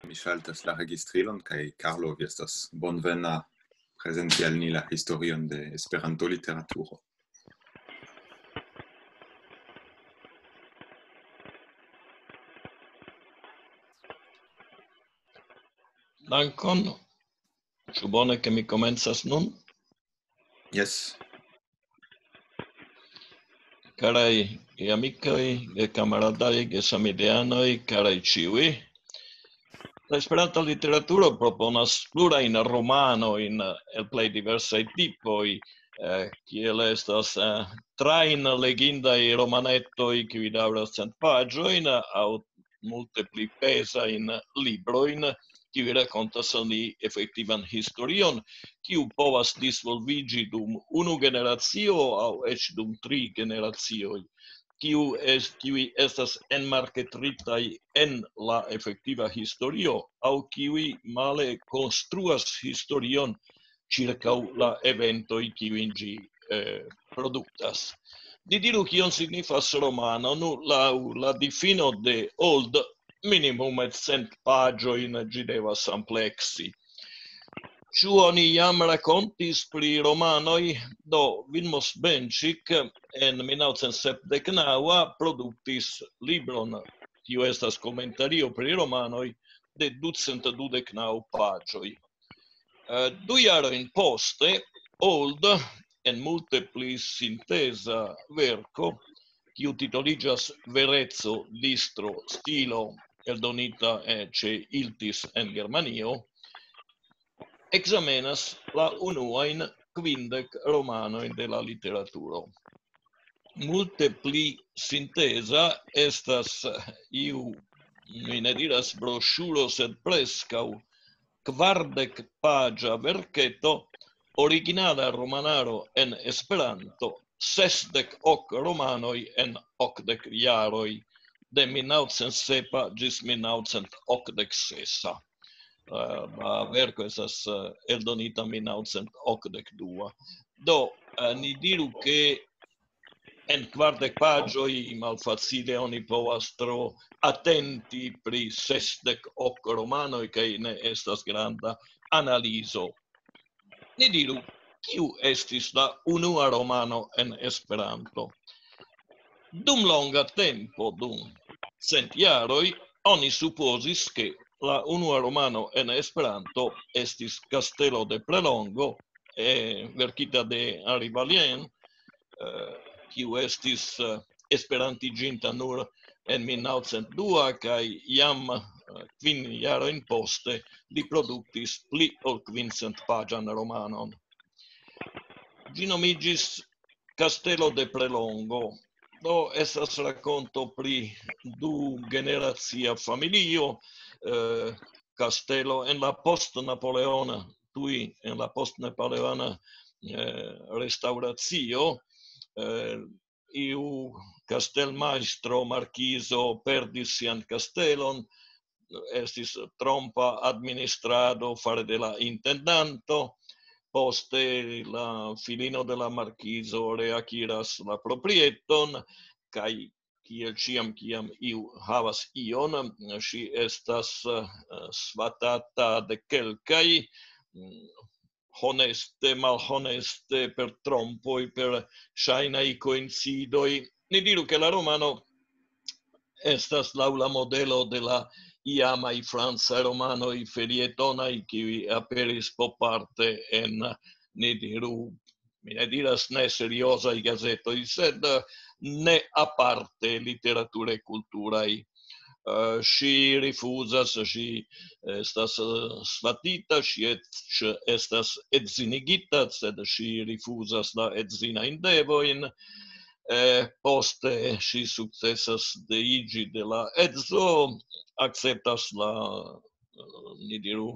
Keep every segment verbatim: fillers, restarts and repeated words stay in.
Mi ŝaltas la registrilon, kaj Carlo, vi estas bonvena prezenti al ni la historion de Esperanto-literaturo. Dankon. Ĉu bone, ke mi komencas nun? Jes. Karaj amikoj, kamaradaj, gesamideanoj, karaj ĉiuj. La Esperanta literaturo proponas plurajn romanojn el plej diversaj tipoj, eh, kiel estas, eh, trajn legindaj romanetoj, kiuj daŭras cent paĝojn, aŭ multe pli pezajn librojn, kiuj rakontas al ni efektivan historion, kiu povas disvolviĝi dum unu generacio aŭ eĉ dum tri generacioj, kiu es-, kiuj estas enmarketritaj en la efektiva historio, aŭ kiuj male konstruas historion ĉirkaŭ la eventoj, kiujn ĝi, eh, produktas. Ni diru, kion signifas romano. Nu, laŭ la difino de Old, minimume cent paĝojn ĝi devas ampleksi. Ĉu oni jam rakontis pri romanoj? Do, Vilmos Benĉik en mil naŭcent sepdek naŭ produktis libron, kiu estas komentario pri romanoj, de ducent dudek naŭ paĝoj. Eh, du jarojn poste, Old, en multe pli sinteza verko, kiu titoliĝas Vereco, distro, stilo, eldonita, eh, ĉe Iltis en Germanio, ekzamenas la unuajn kvindek romanojn de la literaturo. Multe pli sinteza estas, eh, iu, mi ne diras broŝuro, sed preskaŭ kvardek paĝa verketo, originala romanaro en Esperanto, sesdek ok romanoj en okdek jaroj, de mil naŭcent sepa ĝis mil naŭcent okdek sesa. Eh, la verko estas, eh, eldonita mil naŭcent okdek dua. Do, eh, ni diru, ke en kvardek paĝoj malfacile oni povas tro atenti pri sesdek ok romanoj, kaj ne estas granda analizo. Ni diru, kiu estis la unua romano en Esperanto? Dum longa tempo, dum cent jaroj, oni supozis, ke la unua romano en Esperanto estis Kastelo de Prelongo, eh, verkita de Henri Vallien, eh, kiu estis, eh, esperantiĝinta nur en mil naŭcent dua, kaj jam, eh, kvin jarojn poste li produktis pli ol kvin cent paĝan romanon. Ĝi nomiĝis Kastelo de Prelongo. Do, estas rakonto pri du generacia familio, eh, kastelo en la post-napoleona, tuj en la post-napoleona, eh, restaŭracio, eh, iu kastelmajstro, markizo, perdis sian kastelon, estis trompa administrado fare de la intendanto, poste la filino de la markizo reakiras la proprieton, kaj kiel ĉiam, kiam iu havas ion, ŝi estas, eh, svatata de kelkaj, mm, honeste, malhoneste, per trompoj, per ŝajnaj koincidoj. Ni diru, ke la romano estas laŭ la modelo de la iamaj francaj romanoj felietonaj, kiuj aperis poparte en, ni diru, mi ne diras ne seriozaj gazetoj, sed, eh, ne aparte literature kulturaj. Eh, ŝi rifuzas, ŝi estas, eh, svatita, ŝi eĉ estas edzinigita, sed ŝi rifuzas la edzinajn devojn. Eh, poste ŝi sukcesas deiĝi de la edzo, akceptas la, eh, ni diru,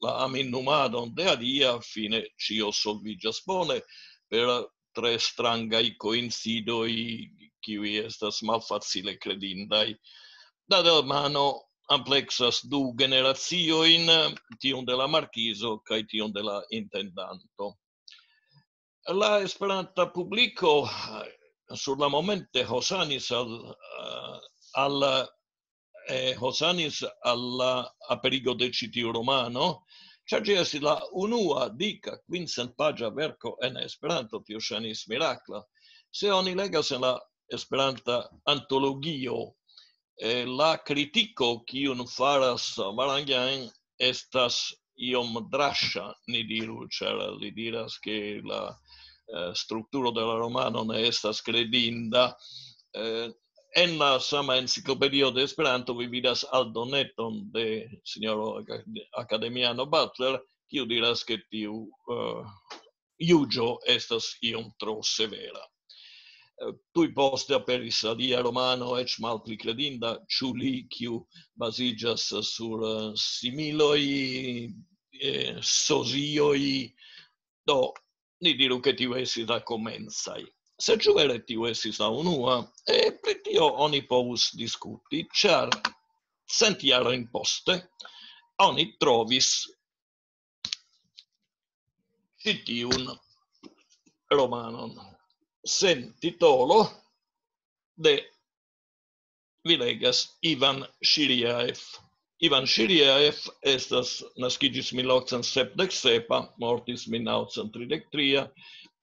la aminumadon de alia, fine ĉio solviĝas bone per tre strangaj koincidoj, kiuj estas malfacile kredindaj. Dadelmano ampleksas du generaciojn, tiun de la markizo kaj tiun de la intendanto. La esperanta publiko, eh, sur la momente hosanis al, eh, al eh, hosanis al la aperigo de ĉi tiu romano, ĉar ĝi estis la unua dika kvincent paĝa verko en Esperanto, tio ŝajnis mirakla. Se oni legas en la Esperanta antologio, eh, la kritiko, kiun faras Varangian, estas iom draŝa, ni diru, ĉar li diras, ke la, eh, strukturo de la romano ne estas kredinda. Eh, en la sama enciklopedio de Esperanto vi vidas aldoneton de sinjoro Akademiano Butler, kiu diras, ke tiu, eh, juĝo estas iom tro severa. Eh, tuj poste aperis alia romano, eĉ malpli kredinda, Ĉu li, kiu baziĝas sur, eh, similoj, eh, sozioj. Do, ni diru, ke tiu estis la komencaj. Se ĉu vere tiu estis la unua, eh, pri tio oni povus diskuti, ĉar cent jarojn poste oni trovis ĉi tiun romanon sen titolo de, vi legas, Ivan Ŝiriaev. Ivan Ŝiriaev estas, naskiĝis mil okcent sepdek sepa, mortis mil naŭcent tridek tria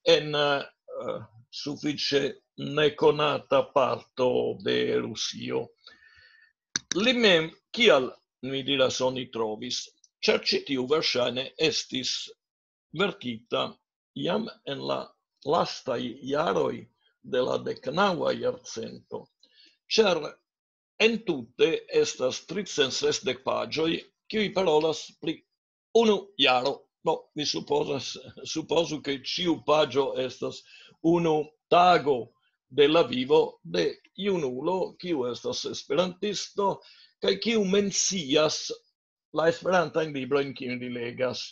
en, eh, sufiĉe nekonata parto de Rusio. Li mem, kial mi diras oni trovis, ĉar ĉi tiu verŝajne estis verkita jam en la lastaj jaroj de la deknaŭa jarcento, ĉar entute estas tricent sesdek paĝoj, kiuj parolas pri unu jaro. No, mi supozas, supozu, ke ĉiu paĝo estas unu tago de la vivo de junulo, kiu estas esperantisto, kaj kiu mencias la esperantajn librojn, kiujn li legas.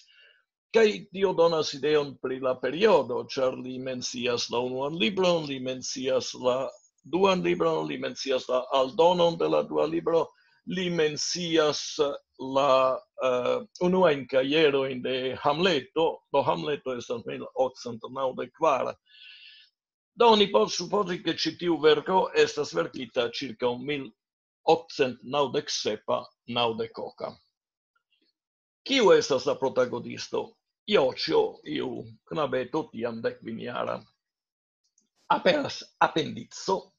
Kaj tio donas ideon pri la periodo, ĉar li mencias la unuan libron, li mencias la duan libron, li mencias la aldonon de la dua libro, li mencias la, eh, unuajn kajerojn de Hamleto, do Hamleto estas mil okcent naŭdek kvar. Do oni povas supozi, ke ĉi tiu verko estas verkita ĉirkaŭ mil okcent naŭdek sepa, naŭdek oka. Kiu estas la protagonisto? Joĉjo, iu knabeto, tiam dekvin jara. Aperas apendico,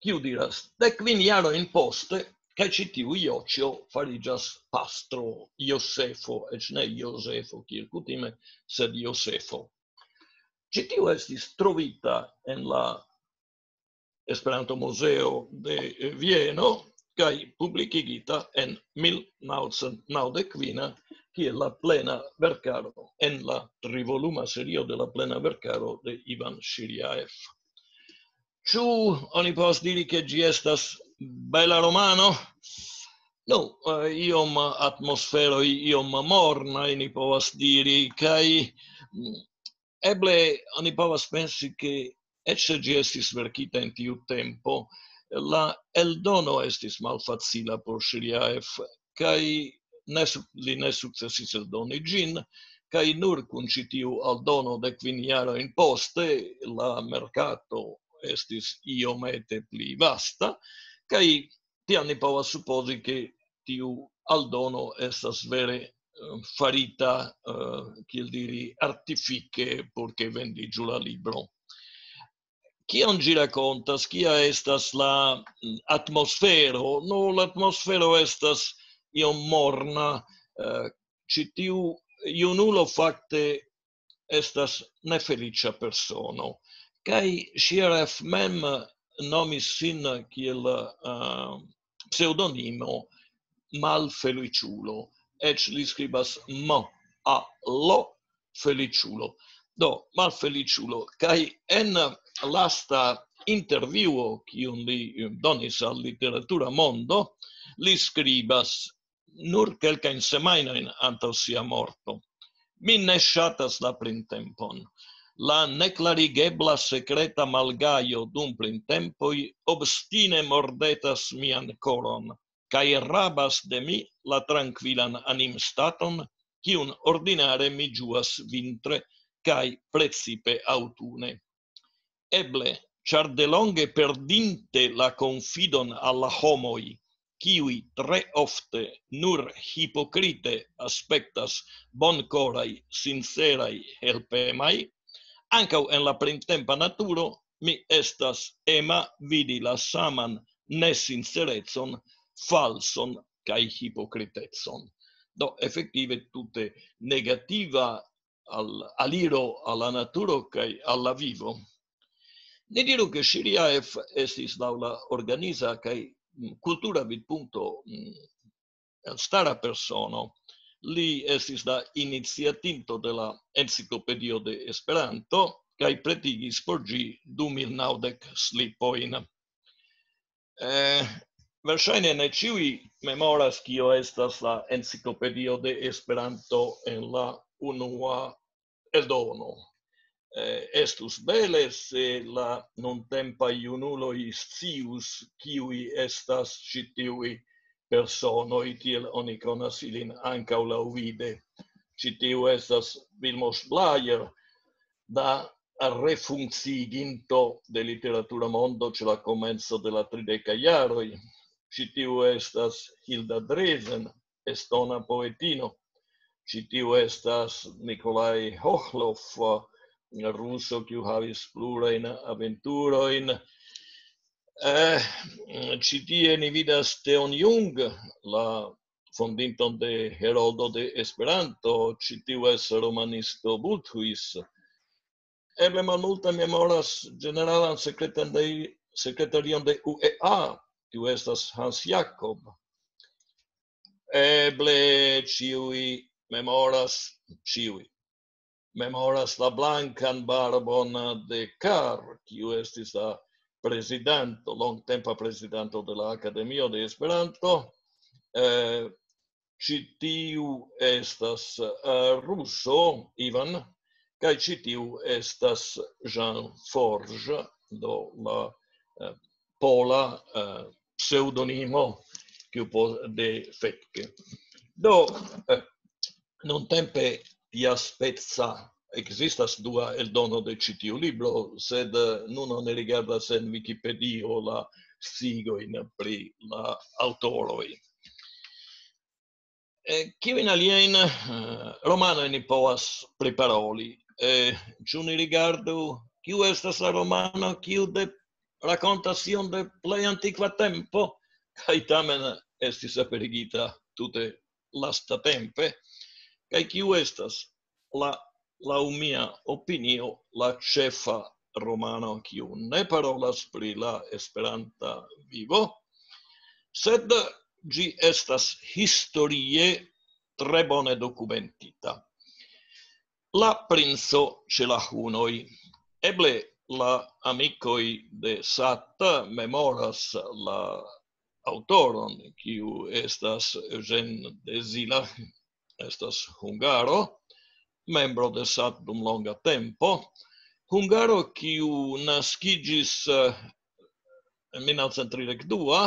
kiu diras: "Dekvin jarojn poste, kaj ĉi tiu Joĉjo fariĝas pastro Josefo", eĉ ne Jozefo, kiel kutime, sed Josefo. Ĉi tiu estis trovita en la Esperanto-Muzeo de Vieno kaj publikigita en mil naŭcent naŭdek kvin kiel la plena verkaro en la trivoluma serio de la plena verkaro de Ivan Ŝiriaev. Ĉu oni povas diri, ke ĝi estas bela romano? Nu, eh, iom atmosferoj, iom mornaj, ni povas diri, kaj, mm, eble oni povas pensi, ke eĉ se ĝi estis verkita en tiu tempo, la eldono estis malfacila por Ŝiriaev, kaj ne su-, li ne sukcesis eldoni ĝin, kaj nur kun ĉi tiu aldono dekvin jarojn poste la merkato estis iomete pli vasta, kaj tiam ni povas supozi, ke tiu aldono estas vere, eh, farita, eh, kiel diri, artifike, por ke vendiĝu la libro. Kion ĝi rakontas? Kia estas la, mm, atmosfero? Nu, la atmosfero estas iom morna. Eh, ĉi tiu junulo fakte estas nefeliĉa persono. Kaj Ŝiriaev mem nomis sin kiel, eh, pseŭdonimo Malfeliĉulo. Eĉ li skribas M A L, feliĉulo. Do, Malfeliĉulo. Kaj en lasta intervjuo, kiun li donis al Literatura Mondo, li skribas nur kelkajn semajnojn antaŭ sia morto: "Mi ne ŝatas la printempon. La neklarigebla sekreta malgajo dum printempoj obstine mordetas mian koron, kaj rabas de mi la trankvilan animstaton, kiun ordinare mi ĝuas vintre, kaj precipe aŭtune. Eble, ĉar delonge perdinte la konfidon al la homoj, kiuj tre ofte nur hipokrite aspektas bonkoraj, sinceraj, helpemaj, ankaŭ en la printempa naturo mi estas ema vidi la saman nesincerecon, falson kaj hipokritecon. Do, efektive tute negativa al, aliro al la naturo kaj al la vivo. Ni diru, ke Ŝiriaev estis laŭ la organiza kaj, mm, kultura vidpunkto, mm, elstara persono. Li estis la iniciatinto de la Enciklopedio de Esperanto kaj pretigis por ĝi du mil naŭdek slipojn. Eh, verŝajne ne ĉiuj memoras, kio estas la Enciklopedio de Esperanto en la unua eldono. Eh, estus bele, se la nuntempaj junuloj scius, kiuj estas ĉi tiuj personoj, tiel oni konas ilin ankaŭ laŭvide. Ĉi tiu estas Vilmos Blajer, da refunkciiginto de literatura mondo ĉe la komenco de la tridekaj jaroj. Ĉi tiu estas Hilda Dresen, estona poetino. Ĉi tiu estas Nikolaj Hohlov, ruso, kiu havis plurajn aventurojn. Eh, ĉi tie ni vidas Teon Jung, la fondinton de Heroldo de Esperanto, ĉi tiu estas romanisto Bulthuis. Eble malmultaj memoras ĝeneralan sekretan de, sekretarion de U E A, kiu estas Hans Jakob. Eble ĉiuj memoras, ĉiuj memoras la blankan barbon de Kar, kiu estis la prezidanto, longtempa prezidanto de la Akademio de Esperanto. Eh, ĉi tiu estas, eh, ruso, Ivan, kaj ĉi tiu estas Jean Forge, do la, eh, pola, eh, pseŭdonimo, kiu po-, de fake. Do, eh, nuntempe tiaspeca ekzistas dua eldono de ĉi tiu libro, sed, eh, nun oni rigardas en Wikipedio la sciigojn pri la aŭtoroj. Eh, kiujn aliajn, eh, romanojn ni povas priparoli? Eh, ĉu ni rigardu, kiu estas la romano, kiu de, rakontas ion de plej antikva tempo, kaj tamen estis aperigita tute lastatempe, kaj kiu estas la, laŭ mia opinio, la ĉefa romano, kiu ne parolas pri la Esperanta vivo, sed ĝi estas historie tre bone dokumentita. La princo ĉe la hunoj. Eble la amikoj de Sat memoras la aŭtoron, kiu estas Eugène de Zila, estas hungaro, membro de Sat dum longa tempo, hungaro, kiu naskiĝis, eh, en mil naŭcent tridek dua,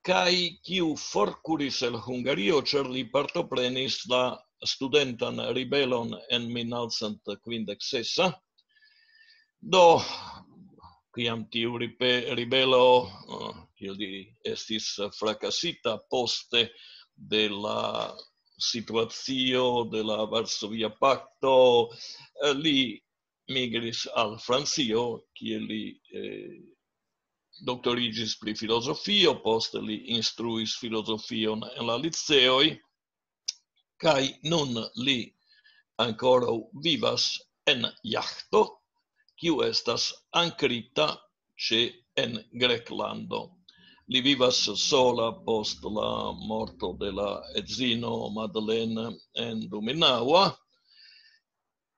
kaj kiu forkuris el Hungario, ĉar li partoprenis la studentan ribelon en mil naŭcent kvindek sesa. Do, kiam tiu ripe-, ribelo, eh, kiel diri, estis frakasita poste de la situacio de la Varsovia Pakto, eh, li migris al Francio, kie li, eh, doktoriĝis pri filozofio, poste li instruis filozofion en la liceoj, kaj nun li ankoraŭ vivas en Jahto, kiu estas ankrita ĉe, en Greklando. Li vivas sola post la morto de la edzino Madeleine en du mil naŭa.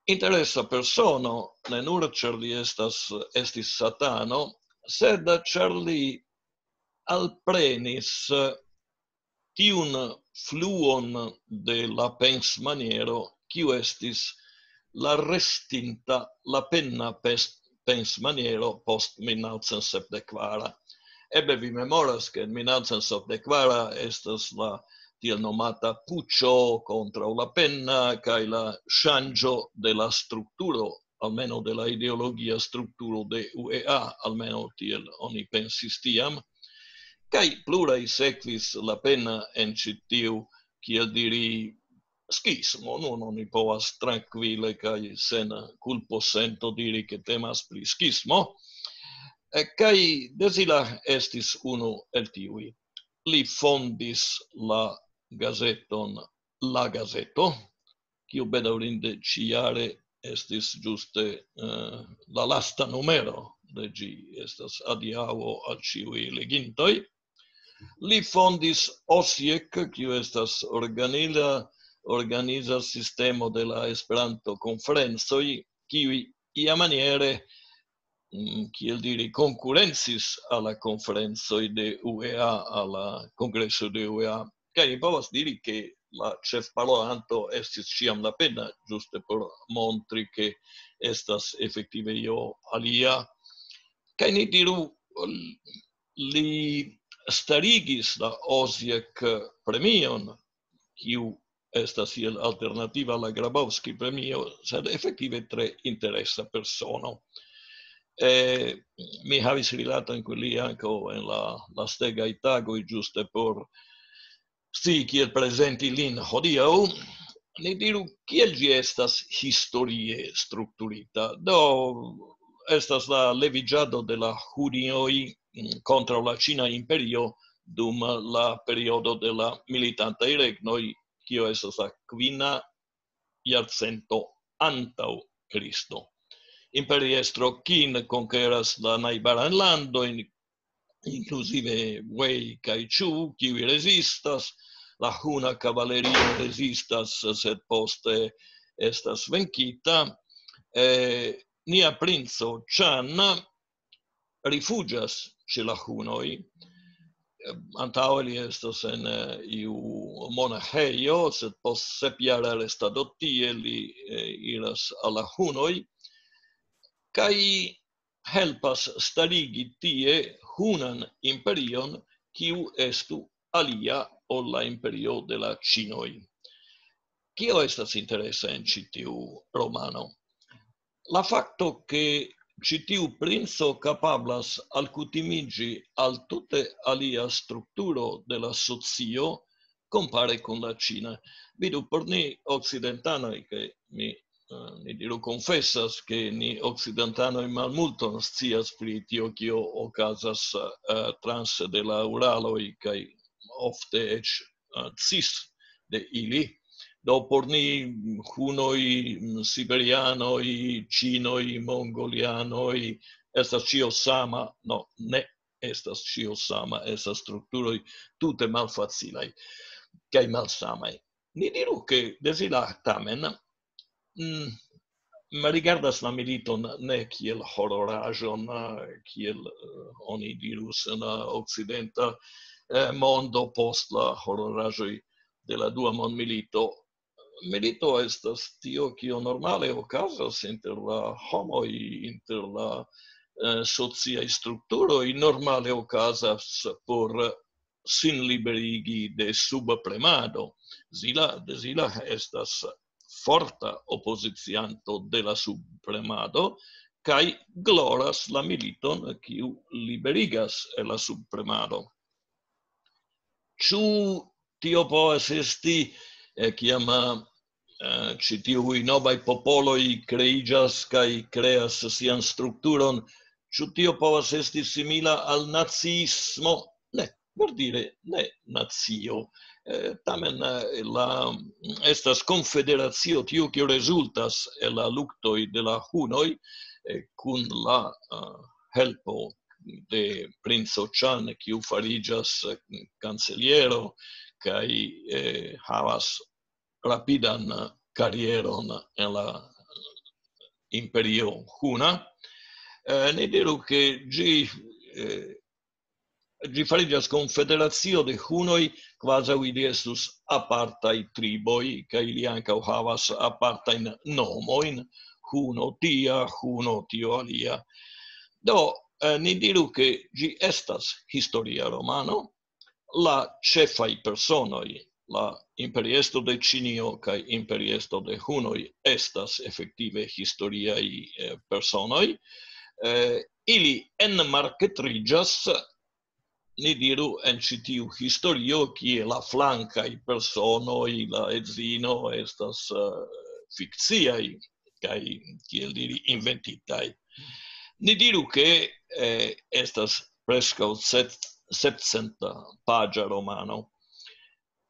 Interesa persono, ne nur ĉar li estas, estis satano, sed ĉar li alprenis tiun fluon de la pensmaniero, kiu estis la restinta, la pena pes-, pensmaniero post mil naŭcent sepdek kvara. Eble vi memoras, ke en mil naŭcent sepdek kvara estas la tiel nomata puĉo kontraŭ la pena kaj la ŝanĝo de la strukturo, almenaŭ de la ideologia strukturo de U E A, almenaŭ tiel oni pensis tiam. Kaj pluraj sekvis la pena en ĉi tiu, kiel diri, skismo. Nun oni povas trankvile kaj sen kulposento diri, ke temas pri skismo. Eh, kaj Dezila estis unu el tiuj. Li fondis la gazeton La Gazeto, kiu bedaŭrinde ĉijare estis ĝuste eh, la lasta numero de ĝi, estas adiaŭo al ĉiuj legintoj. Li fondis Osiek, kiu estas organiza, organiza sistemo de la Esperanto-konferencoj, kiuj iamaniere, mm, kiel diri, konkurencis al la konferencoj de U E A, al la kongreso de U E A. Kaj mi povas diri, ke la ĉefparolanto estis ĉiam la pena, ĝuste por montri, ke estas efektive io alia. Kaj ni diru, li starigis la Osiek premion, kiu estas iel alternativa al la Grabowski premio, sed efektive tre interesa persono. Eh, mi havis rilaton kun li ankaŭ en la lastegaj tagoj, ĝuste por scii, kiel prezenti lin hodiaŭ. Ni diru, kiel ĝi estas historie strukturita. Do, estas la leviĝado de la Hunioj, mm, kontraŭ la Ĉina Imperio dum la periodo de la militantaj regnoj, kio estas la kvina jarcento antaŭ Kristo. Imperiestro Qin konkeras la najbarajn landojn, inkluzive Wei kaj Chu, kiuj rezistas. La huna kavalerio rezistas, sed poste estas venkita. Eh, nia princo Chan rifuĝas ĉe la hunoj. Antaŭe li estas en eh, iu monaĥejo, sed post sepjara restado tie li eh, iras al la hunoj kaj helpas starigi tie hunan imperion, kiu estu alia ol la imperio de la Ĉinoj. Kio estas interesa en ĉi tiu romano? La fakto, ke ĉi tiu princo kapablas alkutimiĝi al tute alia strukturo de la socio kompare kun la Ĉina. Vidu, por ni okcidentanoj, ke mi, eh, ni diru, konfesas, ke ni okcidentanoj malmulton scias pri tio, kio okazas eh, transe de la Uraloj kaj ofte eĉ eh, cis de ili. Do por ni hunoj, mm, siberianoj, ĉinoj, mongolianoj, estas ĉio sama. No, ne estas ĉio sama, estas strukturoj tute malfacilaj kaj malsamaj. Ni diru, ke Dezila tamen mm, rigardas la militon ne kiel hororaĵon, eh, kiel eh, oni dirus en la okcidenta eh, mondo post la hororaĵoj de la Dua Mondmilito. Milito estas tio, kio normale okazas inter la homoj, inter la eh, sociaj strukturoj, normale okazas por sin liberigi de subpremado. Zila, Dezila estas forta opozicianto de la subpremado kaj gloras la militon, kiu liberigas el la subpremado. Ĉu tio povas esti, eh, kiam eh, ĉi tiuj novaj popoloj kreiĝas kaj kreas sian strukturon, ĉu tio povas esti simila al naciismo? Ne, verdire ne nacio. Eh, tamen eh, la, estas konfederacio, tiu, kiu rezultas el la luktoj de la hunoj eh, kun la eh, helpo de princo Chan, kiu fariĝas eh, kanceliero kaj eh, havas rapidan karieron en la imperio huna. Eh, ni diru, ke ĝi eh, ĝi fariĝas konfederacio de hunoj, kvazaŭ ili estus apartaj triboj, kaj ili ankaŭ havas apartajn nomojn, huno tia, huno tio alia. Do, eh, ni diru, ke ĝi estas historia romano, la ĉefaj personoj, la imperiestro de Ĉinio kaj imperiestro de hunoj, estas efektive historiaj eh, personoj. Eh, ili enmarketriĝas ni diru, en ĉi tiu historio, kie la flankaj personoj, la edzino estas uh, fikciaj, kaj, kiel diri, inventitaj. Ni diru, ke eh, estas preskaŭ setcent paĝa romano.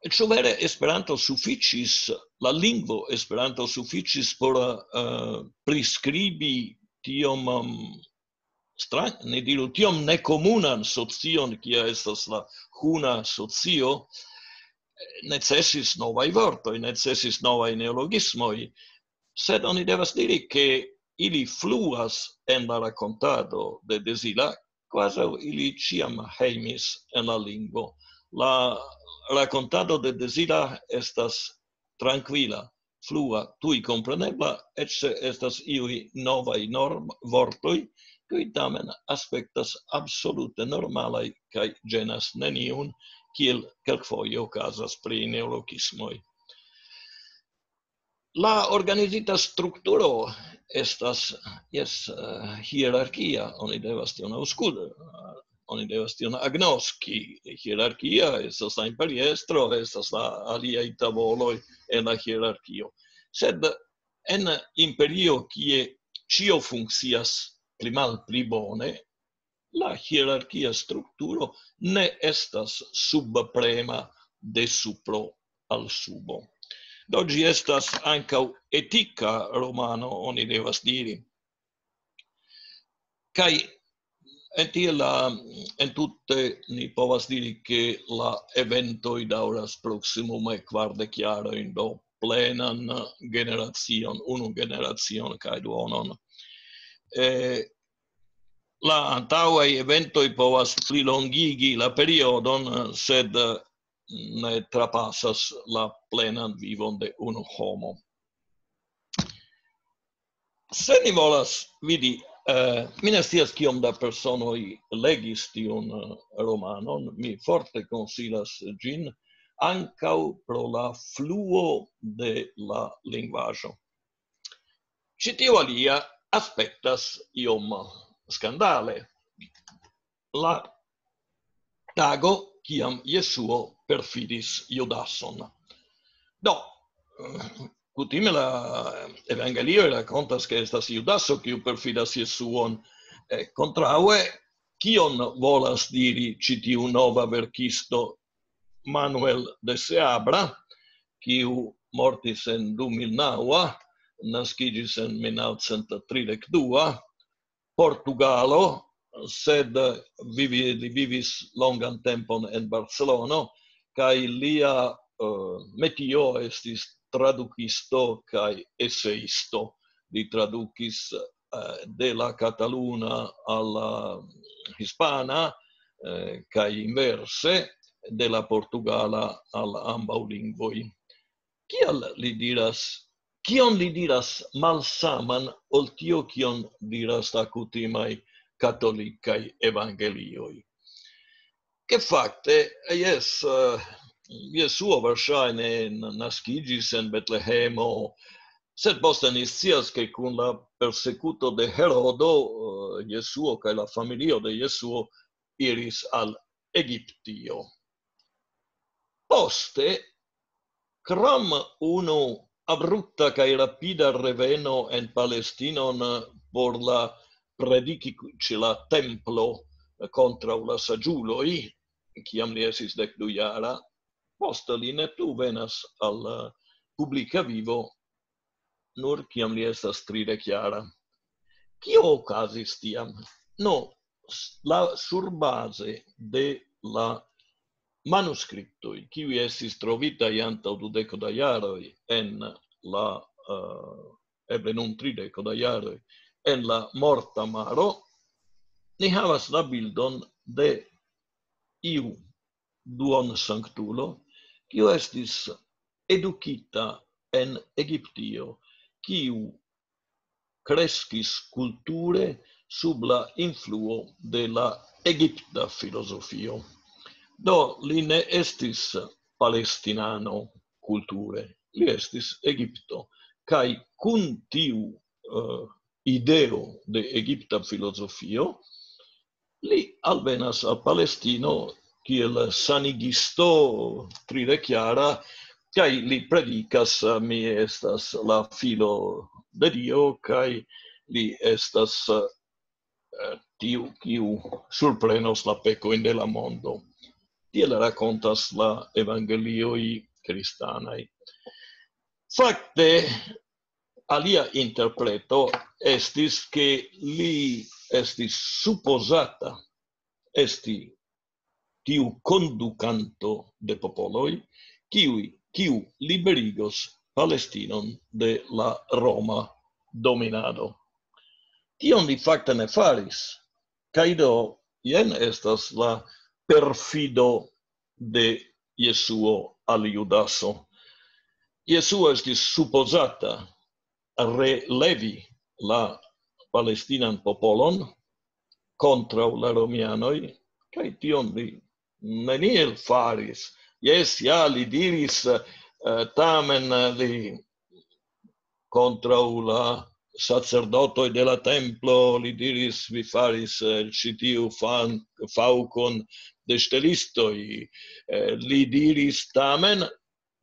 Ĉu vere Esperanto sufiĉis, la lingvo Esperanto sufiĉis por uh, priskribi tiom um, strang, ni diru, tiom nekomunan socion, kia estas la huna socio, necesis novaj vortoj, necesis novaj neologismoj, sed oni devas diri, ke ili fluas en la rakontado de Dezila, kvazaŭ ili ĉiam hejmis en la lingvo. La rakontado de Dezila estas trankvila, flua, tuj komprenebla, eĉ se estas iuj novaj norm-, vortoj, kiuj tamen aspektas absolute normalaj kaj ĝenas neniun, kiel kelkfoje okazas pri neologismoj. La organizita strukturo estas, jes, eh, hierarkia, oni devas tion aŭskulti, oni devas tion agnoski. Hierarkia estas la imperiestro, estas la aliaj tavoloj en la hierarkio. Sed en imperio, kie ĉio funkcias pli malpli bone, la hierarkia strukturo ne estas subprema de supro al subo. Do ĝi estas ankaŭ etika romano, oni devas diri. Kaj en tie la, en tute ni povas diri, ke la eventoj daŭras proksimume kvardek jarojn, do plenan generacion, unu generacion kaj duonon. Eh, la antaŭaj eventoj povas plilongigi la periodon, sed ne trapasas la plenan vivon de unu homo. Se ni volas vidi, eh, mi ne scias kiom da personoj legis tiun eh, romanon, mi forte konsilas ĝin ankaŭ pro la fluo de la lingvaĵo. Ĉi tiu alia aspektas iom skandale. La tago, kiam Jesuo perfiris Judason. Do, kutime la evangelioj rakontas, ke estas Judaso, kiu perfidas Jesuon. Eh, kontraŭe, kion volas diri ĉi tiu nova verkisto Manuel de Seabra, kiu mortis en du mil naŭ, naskiĝis en mil naŭcent tridek dua, Portugalo, sed vivi-, li vivis longan tempon en Barcelono, kaj lia eh, metio estis tradukisto kaj eseisto. Li tradukis eh, de la kataluna al la hispana eh, kaj inverse, de la portugala al ambaŭ lingvoj. Kial li diras, kion li diras malsaman ol tio, kion diras la kutimaj katolikaj evangelioj? Ke fakte, jes, eh, Jesuo verŝajne n-, naskiĝis en Betlehemo, sed poste ni scias, ke kun la persekuto de Herodo, eh, Jesuo kaj la familio de Jesuo iris al Egiptio. Poste, krom unu abrupta kaj rapida reveno en Palestinon por la prediki ĉe la templo kontraŭ la saĝuloj, kiam li estis dek du jara, poste li ne plu venas al eh, publika vivo, nur kiam li estas tridek jara. Kio okazis tiam? No, s-, la surbaze de la manuskriptoj, kiuj estis trovitaj antaŭ dudeko da jaroj en la, eh, eble nun trideko da jaroj, en la Morta Maro, ni havas la bildon de iu duonsanktulo, kiu estis edukita en Egiptio, kiu kreskis kulture sub la influo de la egipta filozofio. Do, li ne estis palestinano kulture, li estis Egipto. Kaj kun tiu eh, ideo de egipta filozofio, Li alvenas al Palestino kiel sanigisto tridekjara, kaj li predikas: "Mi estas la filo de Dio, kaj li estas, eh, tiu, kiu surprenos la pekojn de la mondo." Tiel rakontas la evangelioj kristanaj. Fakte, alia interpreto estis, ke li estis supozata esti tiu kondukanto de popoloj, kiuj, kiu liberigos Palestinon de la Roma dominado. Tion li fakte ne faris. Kaj do, jen estas la perfido de Jesuo al Judaso. Jesuo estis supozata relevi la palestinan popolon kontraŭ la romianoj, kaj tion li neniel faris. Jes, ja, li diris, eh, tamen, eh, li kontraŭ la sacerdotoj de la templo, li diris: "Vi faris, eh, ĉi tiu fan-, faŭkon de ŝtelistoj." Eh, li diris tamen,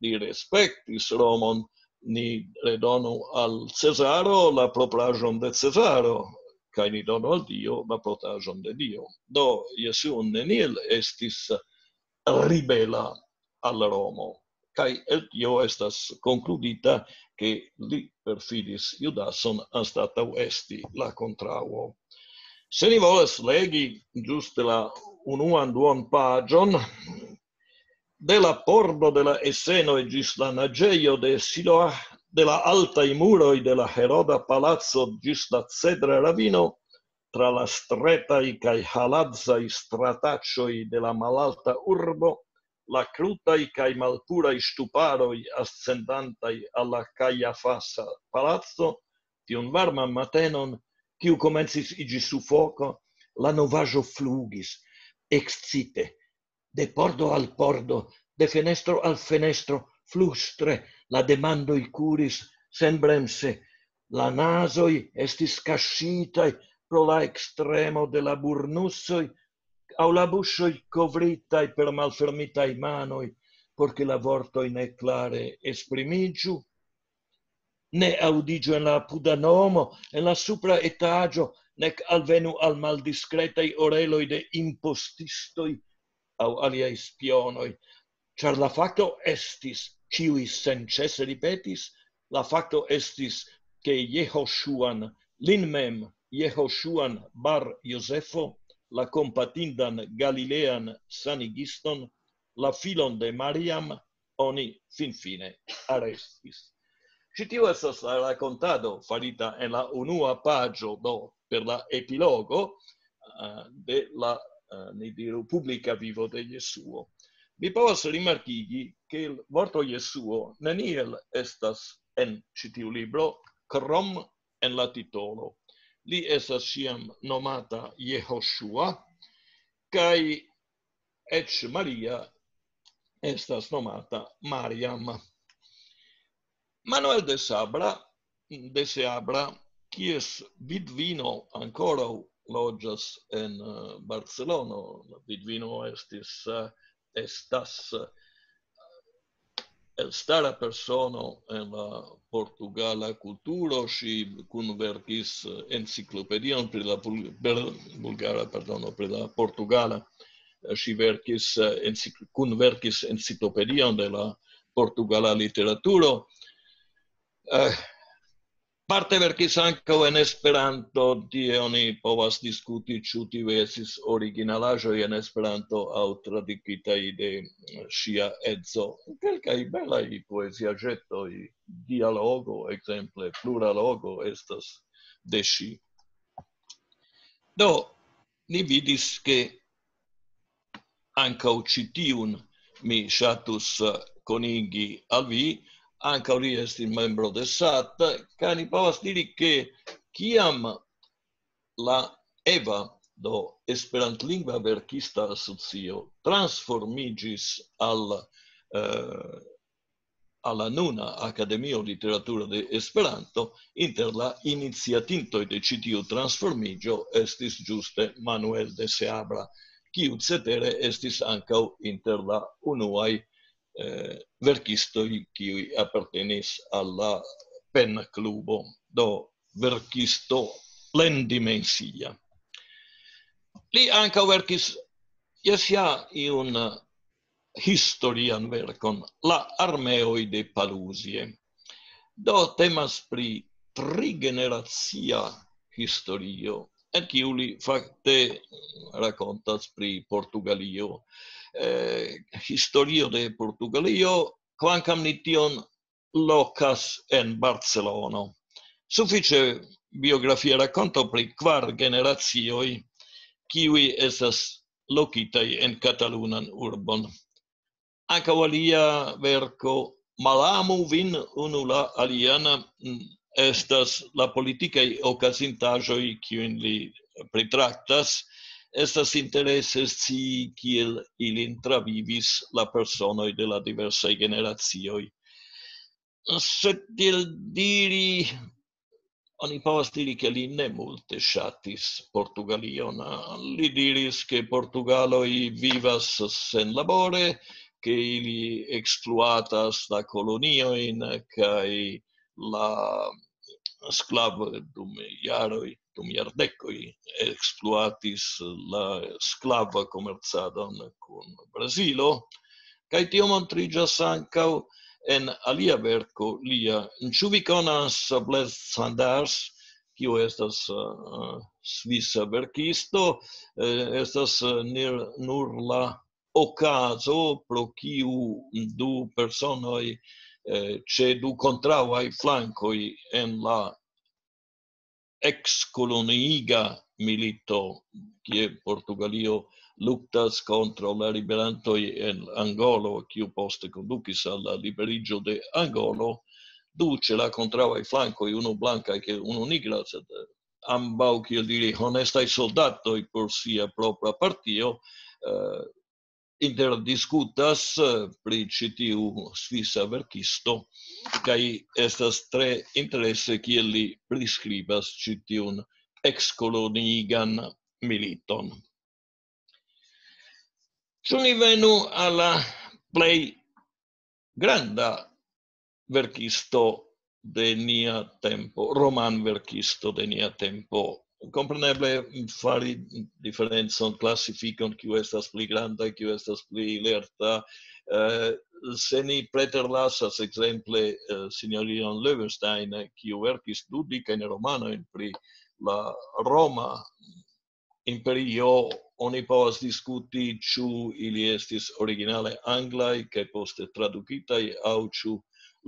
li respektis Romon: "Ni redonu al Cezaro la propraĵon de Cezaro, kaj ni donu al Dio la propraĵon de Dio." Do, Jesuo neniel estis ribela al Romo. Kaj el tio estas konkludita, ke li perfidis Judason anstataŭ esti la kontraŭo. Se ni volas legi ĝuste la unuan duon paĝon, de la pordo de la Esenoj ĝis la naĝejo de Siloah, de la altaj muroj de la Heroda palaco ĝis la Cedra ravino, tra la stretaj kaj haladzaj strataĉoj de la malalta urbo, la krutaj kaj malpuraj ŝtuparoj ascendantaj al la Kajafasa palaco, tiun varman matenon, kiu komencis iĝi sufoko, la novaĵo flugis, ekscite, de pordo al pordo, de fenestro al fenestro, flustre, la demandoj kuris senbremse, la nazoj estis kaŝitaj pro la ekstremo de la burnusoj, aŭ la buŝoj kovritaj per malfermitaj manoj, por ke la vortoj ne klare esprimiĝu. Ne aŭdiĝu en la apuda nomo, en la supra etaĝo, nek alvenu al maldiskretaj oreloj de impostistoj aŭ aliaj spionoj, ĉar la fakto estis, ĉiuj senĉese ripetis, la fakto estis, ke Jehoŝuan, lin mem, Jehoŝuan bar Jozefo, la kompatindan galilean sanigiston, la filon de Mariam, oni finfine arestis. Ĉi tiu estas la rakontado farita en la unua paĝo, do per la epilogo, eh, de la, eh, ni diru, publika vivo de Jesuo. Mi povas rimarkigi, ke la vorto Jesuo neniel estas en ĉi tiu libro, krom en la titolo. Li estas ĉiam nomata Jehoŝua, kaj eĉ Maria estas nomata Mariam. Manuel de Sabra, de Seabra, kies vidvino ankoraŭ loĝas en, eh, Barcelono. La vidvino estis, eh, estas, eh, elstara persono en la portugala kulturo. Ŝi kunverkis, eh, enciklopedion pri la bul-, bel-, bulgara, pardono, pri la portugala. Eh, ŝi verkis, eh, encik-, kunverkis enciklopedion de la portugala literaturo. Eh, parte verkis ankaŭ en Esperanto, tie oni povas diskuti, ĉu tiuj estis originalaĵoj en Esperanto aŭ tradukitaj de, eh, ŝia edzo. Kelkaj belaj poeziaĵetoj, dialogo, ekzemple, pluralogo estas de ŝi. Do, ni vidis, ke ankaŭ ĉi tiun mi ŝatus, eh, konigi al vi, ankaŭ li estis membro de sat, kaj ni povas diri, ke kiam la EVA, do Esperantlingva Verkista Asocio, transformiĝis al, eh, al la nuna Akademio Literatura de Esperanto, inter la iniciatintoj de ĉi tiu transformiĝo estis ĝuste Manuel de Seabra, kiu cetere estis ankaŭ inter la unuaj eh, verkistoj, kiuj apartenis al la Pen-klubo, do verkisto plendimensia. Li ankaŭ verkis, jes, ja, iun historian verkon, La armeoj de Paluzie. Do temas pri trigeneracia historio, en kiu li fakte rakontas pri Portugalio. Eh, historio de Portugalio, kvankam ni tion lokas en Barcelono. Sufiĉe biografia rakonto pri kvar generacioj, kiuj estas lokitaj en katalunan urbon. Ankaŭ alia verko, Malamu vin unu la alian, mm, estas la politikaj okazintaĵoj, kiujn li pritraktas. Estas interese scii, kiel ilin travivis la personoj de la diversaj generacioj. Sed tiel diri, oni povas diri, ke li ne multe ŝatis Portugalion. Li diris, ke portugaloj vivas senlabore, ke ili ekspluatas la koloniojn kaj la sklav dum jaroj, dum jardekoj ekspluatis la sklava komercadon kun Brazilo. Kaj tio montriĝas ankaŭ en alia verko lia. Ĉu vi konas Blaise Cendarc'h, kiu estas, eh, svisa verkisto? Eh, estas, eh, nir-, nur la okazo, pro kiu du personoj, eh, ĉe du kontraŭaj flankoj en la ekskoloniiga milito, kie Portugalio luktas kontraŭ la ribelantoj en Angolo, kiu poste kondukis al la liberiĝo de Angolo, du ĉe la kontraŭaj flankoj, unu blanka kaj unu nigra, sed, eh, ambaŭ, kiel diri, honestaj soldatoj por sia propra partio, eh, interdiskutas, eh, pri ĉi tiu svisa verkisto, kaj estas tre interese, kiel li priskribas ĉi tiun ekskoloniigan militon. Ĉu ni venu al la plej granda verkisto de nia tempo, roman verkisto de nia tempo? Kompreneble, fari diferencon, klasifikon, kiu estas pli granda, kiu estas pli lerta. Eh, se ni preterlasas, ekzemple, eh, sinjorinon Löwenstein, kiu verkis dudikajn romanojn pri la Roma Imperio, oni povas diskuti, ĉu ili estis originale anglaj kaj poste tradukitaj, aŭ ĉu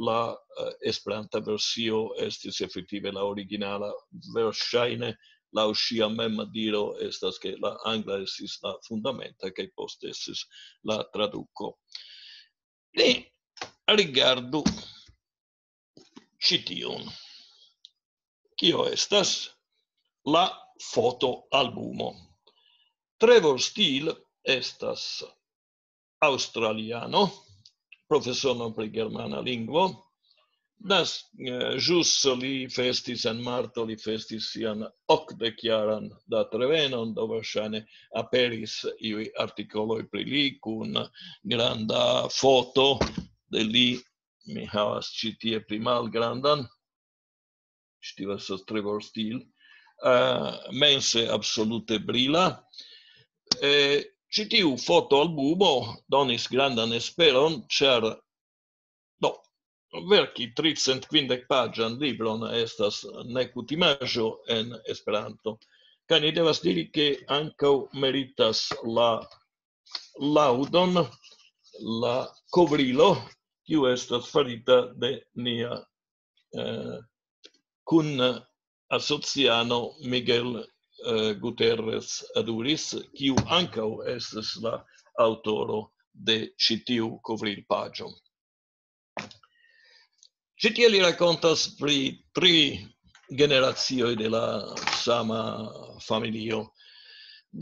la, eh, esperanta versio estis efektive la originala. Verŝajne, laŭ ŝia mem diro, estas, ke la angla estis la fundamenta kaj poste estis la traduko. Ni rigardu ĉi tiun. Kio estas la fotoalbumo? Trevor Steele estas aŭstraliano, profesono pri germana lingvo. Nas-, eh, ĵus li festis en marto, li festis sian okdekjaran datrevenon, do verŝajne aperis iuj artikoloj pri li kun granda foto de li. Mi havas ĉi tie pli malgrandan. Ĉi tiu estas Trevor Steele. Eh, mense absolute brila. Eh, ĉi tiu fotoalbumo donis grandan esperon, ĉar, do, verki tricent kvindek paĝan libron estas nekutimaĵo en Esperanto. Kaj ni devas diri, ke ankaŭ meritas la laŭdon la kovrilo, kiu estas farita de nia, eh, kun asociano Miguel, eh, Guterres Aduris, kiu ankaŭ estas la aŭtoro de ĉi tiu kovrilpaĝo. Ĉi tie li rakontas pri tri generacioj de la sama familio.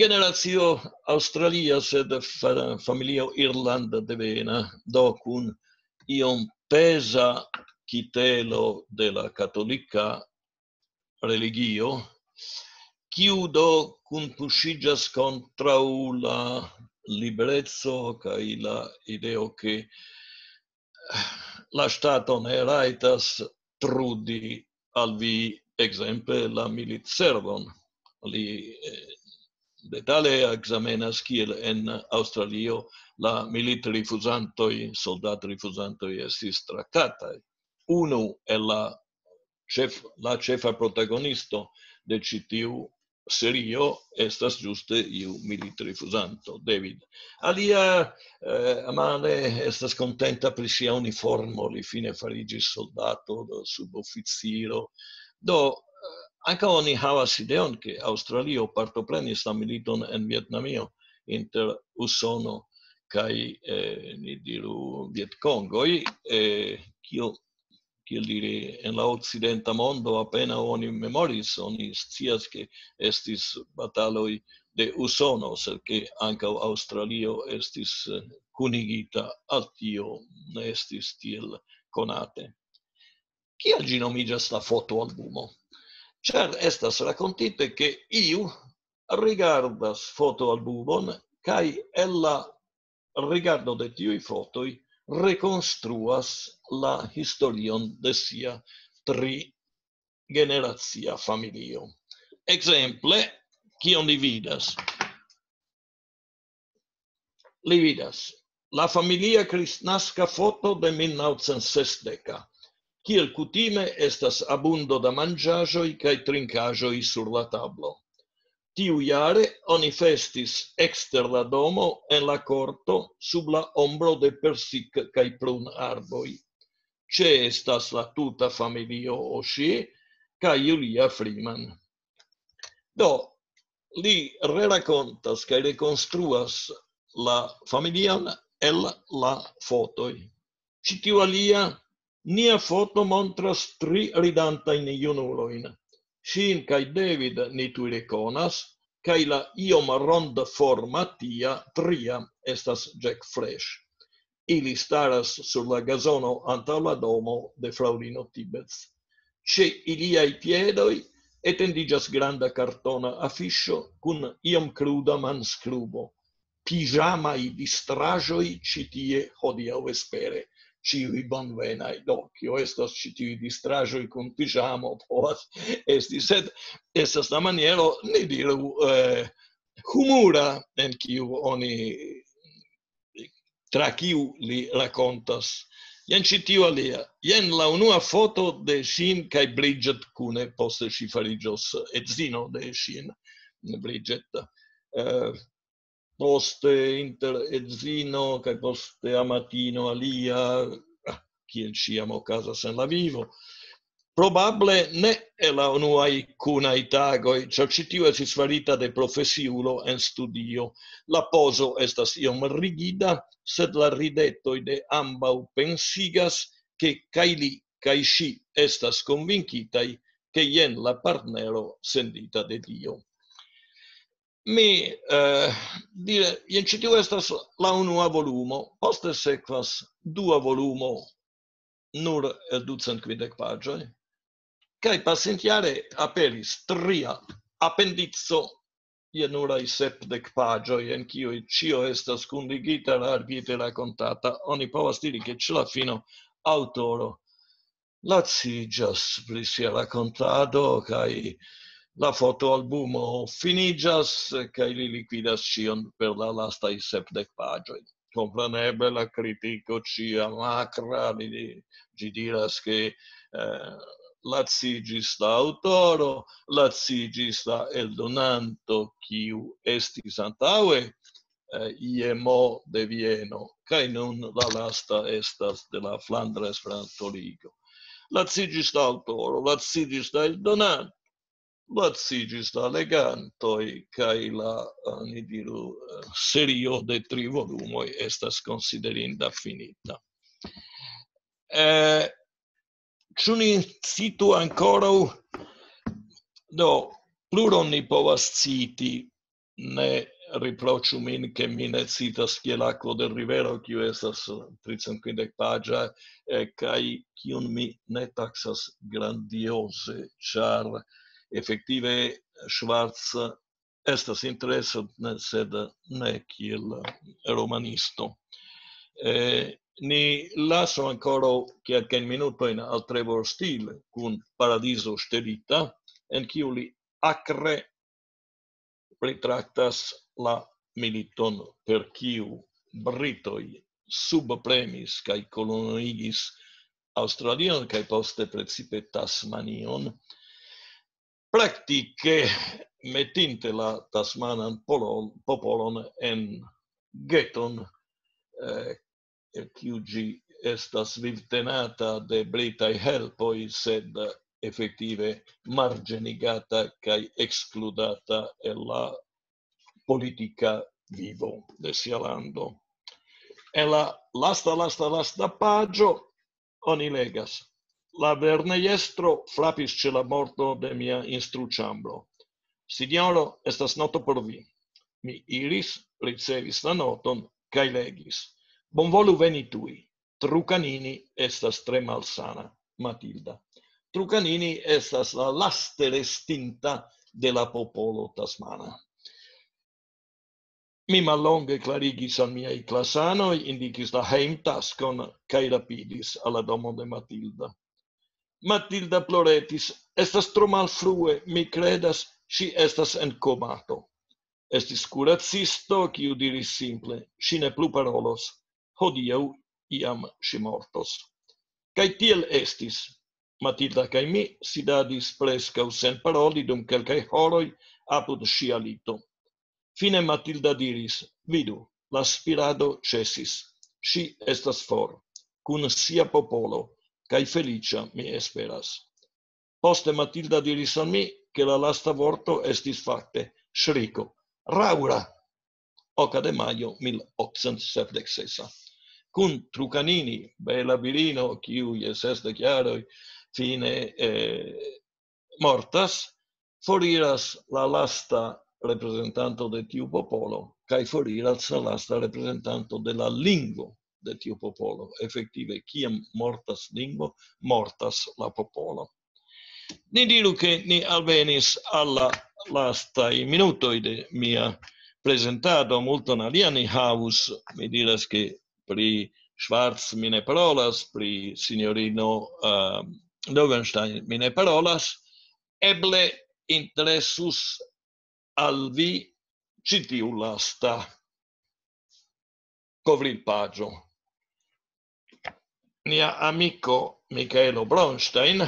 Generacio aŭstralia, sed fa-, familio irlanda devena, do kun iom peza kitelo de la katolika religio, kiu do kunpuŝiĝas kontraŭ la libereco kaj la ideo, ke la ŝtato ne rajtas trudi al vi, ekzemple, la militservon. Li eh, detale ekzamenas, kiel en Aŭstralio la militrifuzantoj, soldatrifuzantoj estis traktataj. Unu el la ĉef-, la ĉefa protagonisto de ĉi tiu serio estas ĝuste iu militrifuzanto, David. Alia eh, amale estas kontenta pri sia uniformo, li fine fariĝis soldato, do suboficiro. Do eh, ankaŭ oni havas ideon, ke Aŭstralio partoprenis la militon en Vietnamio inter Usono kaj eh, ni diru Vietkongoj, eh, kio, kiel diri, en la okcidenta mondo apenaŭ oni memoris, oni scias, ke estis bataloj de Usono, sed ke ankaŭ Aŭstralio estis eh, kunigita al tio, ne estis tiel konate. Kiel ĝi nomiĝas, la fotoalbumo? Ĉar estas rakontite, ke iu rigardas fotoalbumon kaj el la rigardo de tiuj fotoj rekonstruas la historion de sia tri generacia familio. Ekzemple, kion li vidas? Li vidas la familia kristnaska foto de mil naŭcent sesdek. Kiel kutime, estas abundo da manĝaĵoj kaj trinkaĵoj sur la tablo. Tiujare oni festis ekster la domo en la korto sub la ombro de persik- kaj prunarboj. Ĉeestas la tuta familio Oshie kaj Julia Freeman. Do, li rerakontas kaj rekonstruas la familion el la fotoj. Ĉi tiu alia, nia foto montras tri ridantajn junulojn. Ŝin kaj David ni tuj rekonas, kaj la iom ronda forma tia tria estas Jack Fresh. Ili staras sur la gazono antaŭ la domo de fraŭlino Tibets. Ĉe iliaj piedoj etendiĝas granda kartona afiŝo kun iom kruda manskrubo. Pižamaj distraĵoj ĉi tie hodiaŭ vespere. Ĉiuj bonvenaj. Do, kio estas ĉi tiuj distraĵoj kun pižamo, povas esti, sed estas la maniero, ni diru, eh, humura, en kiu oni, tra kiu li rakontas. Jen ĉi tiu alia. Jen la unua foto de ŝin kaj Bridget kune, poste ŝi fariĝos edzino de ŝin, Bridget. Eh, poste inter edzino kaj poste amatino alia, ah, kiel ĉiam okazas en la vivo. Probable ne el la unuaj kunaj tagoj, ĉar ĉi tiu estis farita de profesiulo en studio. La pozo estas iom rigida, sed la ridetoj de ambaŭ pensigas, ke kaj li kaj ŝi estas konvinkitaj, ke jen la partnero sendita de Dio. Mi, eh, dire, jen ĉi tiu estas la unua volumo, poste sekvas dua volumo, nur el ducent kvindek paĝoj, kaj pasintjare aperis tria apendico je nuraj sepdek paĝoj, en kiuj ĉio estas kunligita, largite rakontata. Oni povas diri, ke ĉe la fino aŭtoro laciĝas pri sia rakontado, kaj la fotoalbumo finiĝas, kaj li likvidas ĉion per la lastaj sepdek paĝoj. Kompreneble la kritiko ĉiam akra, li, ĝi diras, ke eh, laciĝis la aŭtoro, laciĝis la eldonanto, kiu estis antaŭe eh, I M O de Vieno, kaj nun la lasta estas de la Flandra Esperanto-Ligo. Laciĝis la aŭtoro, laciĝis la eldonanto, laciĝis la legantoj, kaj la, eh, ni diru, eh, serio de tri volumoj estas konsiderinda finita. Eh, ĉu ni citu ankoraŭ? Do, pluron ni povas citi, ne Riproĉu min, ke mi ne citas kiel akvo de rivero, kiu estas tricent kvindek paĝa, eh, kaj kiun mi ne taksas grandioze, ĉar efektive Schwarz estas interesa, ne, sed ne kiel romanisto. Eh, ni lasu ankoraŭ kelkajn minutojn al Trevor Steele kun Paradizo ŝtelita, en kiu li akre pritraktas la militon, per kiu britoj subpremis kaj kolonigis Aŭstralion kaj poste precipe Tasmanion, praktike metinte la tasmanan polo-, popolon en geton, eh, el kiu ĝi estas vivtenata de britaj helpoj, sed efektive marĝenigata kaj ekskludata el la politika vivo de sia lando. En la lasta, lasta, lasta paĝo oni legas: "La lernejestro frapis ĉe la morto de mia instruĉambro. Sinjoro, estas noto por vi." Mi iris, ricevis la noton kaj legis: "Bonvolu veni tuj. Trucanini estas tre malsana. Matilda." Trucanini estas la laste restinta de la popolo tasmana. Mi mallonge klarigis al miaj klasanoj, indikis la hejmtaskon kaj rapidis al la domo de Matilda. Matilda ploretis: "Estas tro malfrue, mi kredas, ŝi estas en komato." Estis kuracisto, kiu diris simple: "Ŝi ne plu parolos. Hodiaŭ iam ŝi mortos." Kaj tiel estis. Matilda kaj mi sidadis preskaŭ sen paroli dum kelkaj horoj apud ŝia lito. Fine Matilda diris: "Vidu, la spirado ĉesis. Ŝi estas for, kun sia popolo, kaj feliĉa, mi esperas." Poste Matilda diris al mi, ke la lasta vorto estis fakte ŝriko: "Raŭra!" Oka de majo mil okcent sepdek sesa. Kun Trucanini, bela virino, kiu je sesdek jaroj fine, eh, mortas, foriras la lasta reprezentanto de tiu popolo, kaj foriras la lasta reprezentanto de la lingvo de tiu popolo. Efektive, kiam mortas lingvo, mortas la popolo. Ni diru, ke ni alvenis al la lastaj minutoj de mia prezentado. Multon alia ni havus, mi diras, ke pri Schwarz mi ne parolas, pri sinjorino, eh, Loewenstein mi ne parolas. Eble interesus al vi ĉi tiu lasta kovrilpaĝo. Nia amiko Michaelo Bronstein,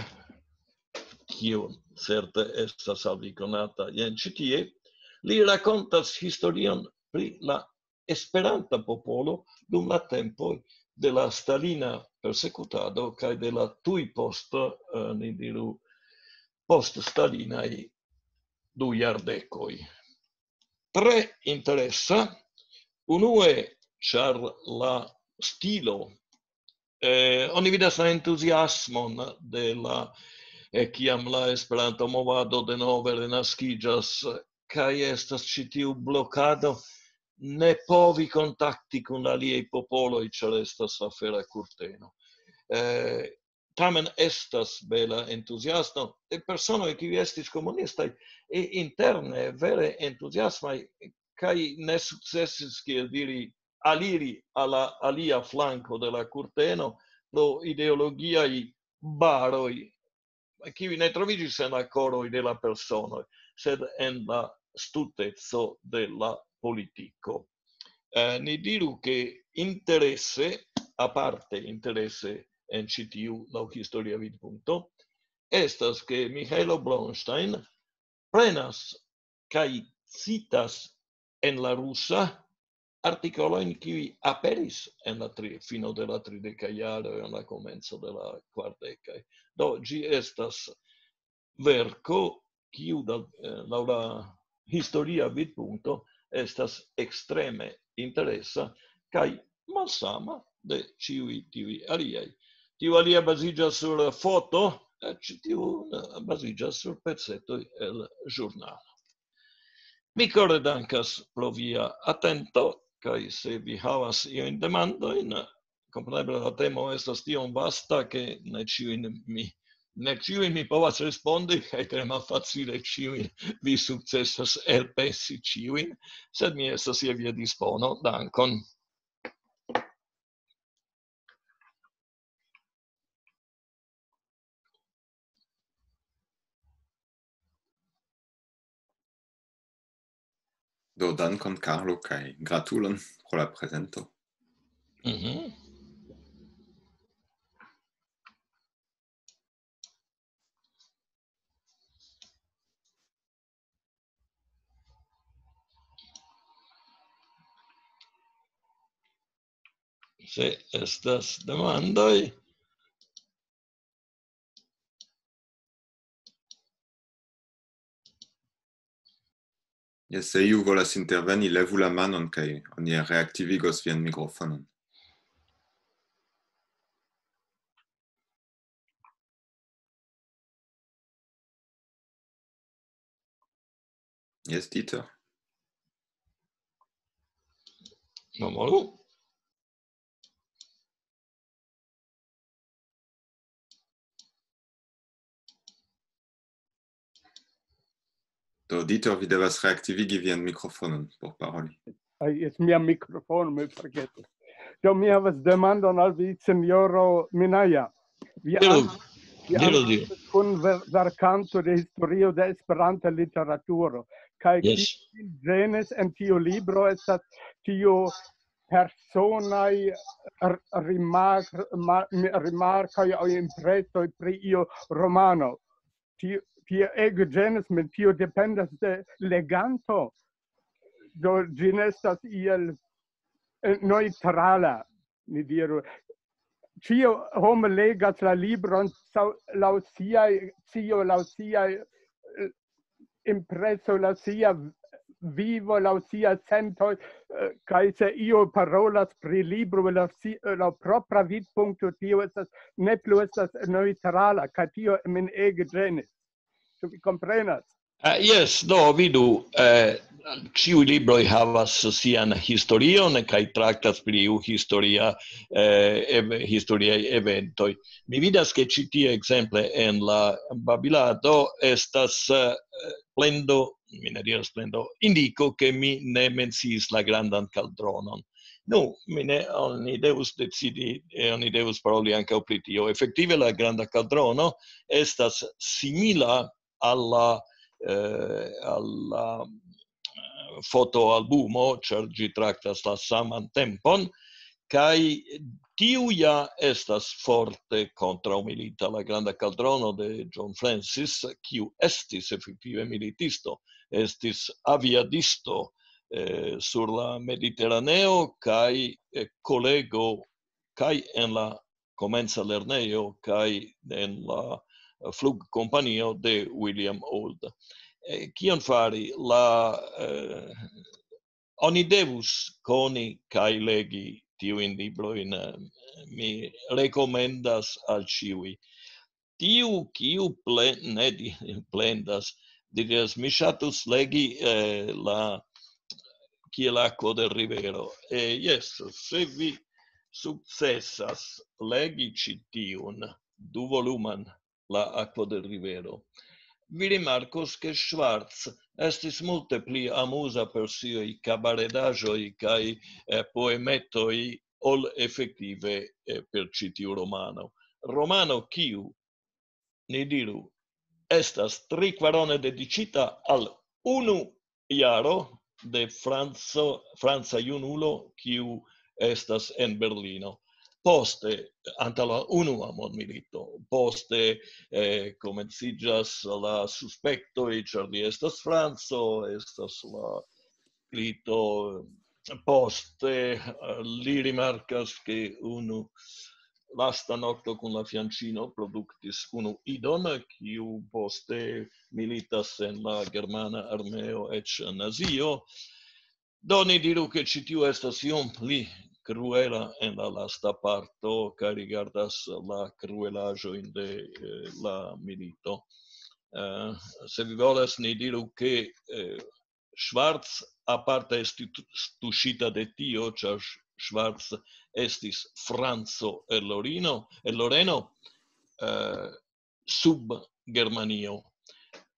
kiu certe estas al vi konata, jen ĉi tie, li rakontas historion pri la esperanta popolo dum la tempoj de la stalina persekutado kaj de la tuj post, eh, ni diru, post-stalinaj du jardekoj. Tre interesa, unue, ĉar la stilo, eh, oni vidas la entuziasmon de la, eh, kiam la Esperanto-movado denove renaskiĝas, kaj estas ĉi tiu blokado, ne povi kontakti kun aliaj popoloj, ĉar estas afera kurteno. Eh, tamen estas bela entuziasmo de personoj, kiuj estis komunistaj, i-, interne vere entuziasmaj, kaj ne sukcesis, kiel diri, aliri al la alia flanko de la kurteno pro ideologiaj baroj, kiuj ne troviĝis en la koroj de la personoj, sed en la stuteco de la politiko. Eh, ni diru, ke interese, aparte interese en ĉi tiu laŭ historia vidpunkto, estas, ke Mihailo Bronstein prenas kaj citas en la rusa artikolojn, kiuj aperis en la tri-, fino de la tridekaj jaroj, en la komenco de la kvardekaj. Do, ĝi estas verko, kiu da-, eh, laŭ la historia vidpunkto estas ekstreme interesa kaj malsama de ĉiuj tiuj aliaj. Tiu alia baziĝas sur foto, eh, ĉi tiu, eh, baziĝas sur pecetoj el ĵurnalo. Mi kore dankas pro via atento, kaj se vi havas iujn demandojn, kompreneble la temo estas tiom vasta, ke ne ĉiujn mi, ne ĉiujn mi povas respondi, kaj tre malfacile ĉiujn vi sukcesas elpensi ĉiujn, sed mi estas je via dispono. Dankon. Do, dankon, Carlo, kaj gratulon pro la prezento. Mhm. Se estas demandoj. Jes, se iu volas interveni, levu la manon kaj oni reaktivigos vian mikrofonon. Jes, Dieter. Memoru. Do, Dieter, vi devas reaktivigi vian mikrofonon por paroli. Ai, es mia mikrofono, mi forgesis. Do, mi havas demandon al vi, sinjoro Minaja. Vi Diru, an- vi diru, an- diru. Kun ver- verkanto de historio de Esperanta literaturo. Kaj Yes. ĝenis en tiu libro estas tiu personaj r- rimark- ma- mi- rimarkoj aŭ impresoj pri io romano. Tio, tio ege ĝenis min, tio dependas de leganto. Do ĝi ne estas iel eh, neutrala, ni diru. Ĉio homo legas la libron sau- laŭ siaj, cio laŭ siaj eh, impreso, laŭ sia vivo, laŭ sia sentoj, eh, kaj se io parolas pri libro laŭ si- laŭ propra vidpunkto, tio estas, ne plu estas neutrala, kaj tio min ege ĝenis. Ĉu vi komprenas? Uh, yes, do, vidu, uh, ĉiuj libroj havas sian historion kaj traktas pri iu historia, uh, ev- historiaj eventoj. Mi vidas, ke ĉi tie ekzemple en la babilado estas uh, plendo, mi ne diras plendo, indiko, ke mi ne menciis la grandan kaldronon. Nu, mi ne, oni devus decidi, eh, oni devus paroli ankaŭ pri tio. Efektive la granda kaldrono estas simila al la, eh, al la eh, fotoalbumo, ĉar ĝi traktas la saman tempon, kaj tiu ja estas forte kontraŭmilita. La granda kaldrono de John Francis, kiu estis efektive militisto, estis aviadisto eh, sur la Mediteraneo kaj eh, kolego kaj en la komenca lernejo kaj en la flugkompanio de William Old. Eh, kion fari? La, eh, oni devus koni kaj legi tiujn librojn. Eh, mi rekomendas al ĉiuj. Tiu, kiu ple-, ne di- plendas, diras, mi ŝatus legi eh, la kiel akvo de rivero. Eh, yes, se vi sukcesas legi ĉi tiun duvoluman, la akvo de rivero, vi rimarkos, ke Schwarz estis multe pli amuza per siaj kabaredaĵoj kaj eh, poemetoj ol efektive eh, per ĉi tiu romano. Romano, kiu, ni diru, estas trikvarone dediĉita al unu jaro de Franco, franca junulo, kiu estas en Berlino. Poste, antaŭ la unua mondmilito, poste eh, komenciĝas la suspektoj, ĉar li estas franco, estas la milito. Poste eh, li rimarkas, ke unu lasta nokto kun la fianĉino produktis unu idon, kiu poste militas en la germana armeo, eĉ nazio. Do ni diru, ke ĉi tiu estas iom pli kruela en la lasta parto, kaj rigardas la kruelaĵojn de eh, la milito. Eh, se vi volas, ni diru, ke eh, Schwarz aparte estis tuŝita de tio, ĉar Schwarz estis franco el Lorino, el Loreno, eh, sub Germanio,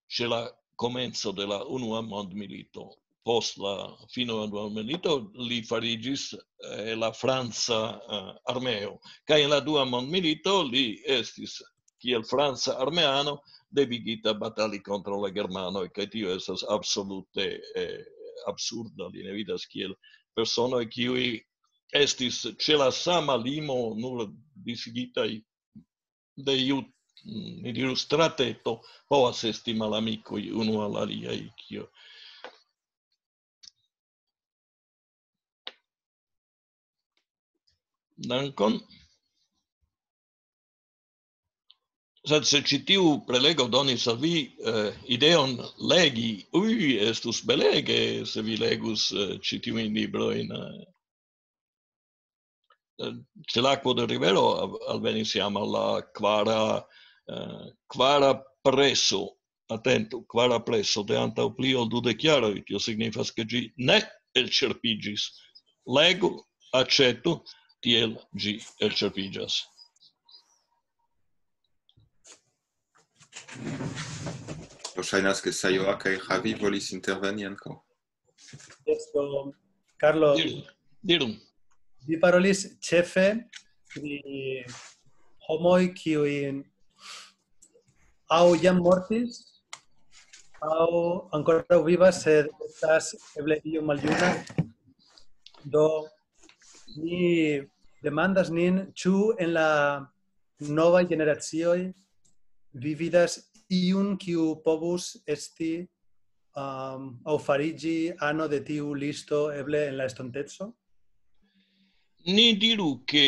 ĉe la komenco de la Unua Mondmilito. Post la fino de la Unua Mondmilito li fariĝis, eh, la franca, eh, armeo. Kaj en la Dua Mondmilito li estis kiel franca armeano devigita batali kontraŭ la germanoj, kaj tio estas absolute, eh, absurda. Li ne vidas kiel personoj, kiuj estis ĉe la sama limo, nur disigitaj de iu, ni diru, strateto, povas esti malamikoj unu al aliaj, kio. Dankon. Sed se ĉi tiu prelego donis al vi, eh, ideon legi, ui, estus belege, se vi legus, eh, ĉi tiujn librojn, eh, eh, ĉe la akvo de rivero al-, alvenis jam al la kvara, eh, kvara preso. Atentu, kvara preso de antaŭ pli ol dudek jaroj, tio signifas, ke ĝi ne elĉerpiĝis. Legu, aĉetu, tiel ĝi elĉerpiĝas. Do ŝajnas, ke Sajoa kaj Javi volis interveni ankaŭ. Esto, Carlo, Diru, diru. Vi parolis ĉefe pri homoj, kiuj aŭ jam mortis, aŭ ankoraŭ vivas, sed estas eble iom maljuna. Do, ni demandas nin, ĉu en la novaj generacioj vi vidas iun, kiu povus esti, um, aŭ fariĝi ano de tiu listo, eble en la estonteco? Ni diru, ke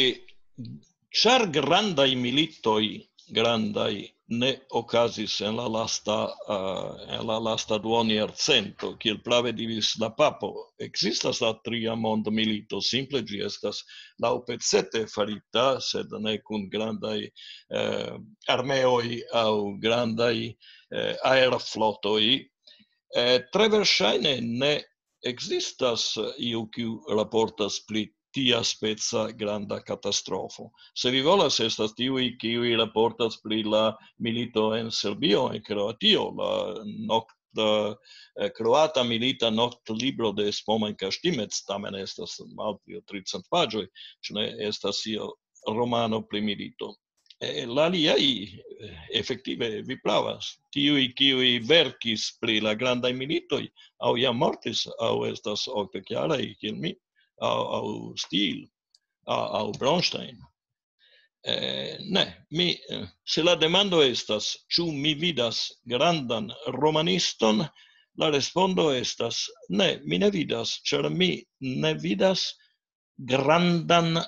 ĉar grandaj militoj, grandaj, ne okazis en la lasta, eh, en la lasta duonjarcento, kiel prave diris la papo, ekzistas la tria mondmilito, simple ĝi estas laŭpecete farita, sed ne kun grandaj, eh, armeoj aŭ grandaj, eh, aerflotoj. Eh, tre verŝajne ne ekzistas iu, kiu raportas pri tia speca granda katastrofo. Se vi volas, estas tiuj, kiuj raportas pri la milito en Serbio, en Kroatio, la nokt-, eh, kroata milita noktlibro de Spomen Kaštimec, tamen estas malpli ol tricent paĝoj, ĉu ne estas io romano pri milito. Eh, la aliaj, eh, efektive, vi pravas, tiuj, kiuj verkis pri la grandaj militoj, aŭ jam mortis, aŭ estas okdekjaraj, kiel mi, aŭ, aŭ Stil, aŭ, aŭ Bronstein. Eh, ne, mi, eh, se la demando estas, ĉu mi vidas grandan romaniston, la respondo estas, ne, mi ne vidas, ĉar mi ne vidas grandan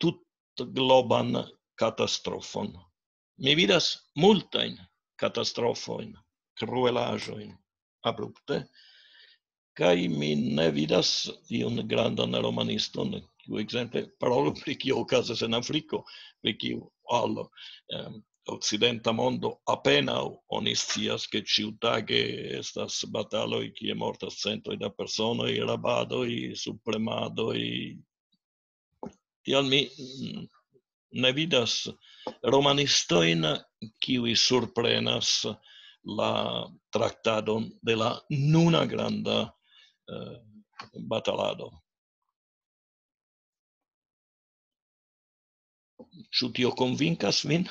tutgloban katastrofon. Mi vidas multajn katastrofojn, kruelaĵojn abrupte, kaj mi ne vidas iun grandan romaniston, kiu ekzemple parolu pri kio okazas en Afriko, pri kiu al, em, okcidenta mondo apenaŭ oni scias, ke ĉiutage estas bataloj, kie mortas centoj da personoj, rabadoj, subpremadoj. Tial mi, mm, ne vidas romanistojn, kiuj surprenas la traktadon de la nuna granda, eh, batalado. Ĉu tio konvinkas vin?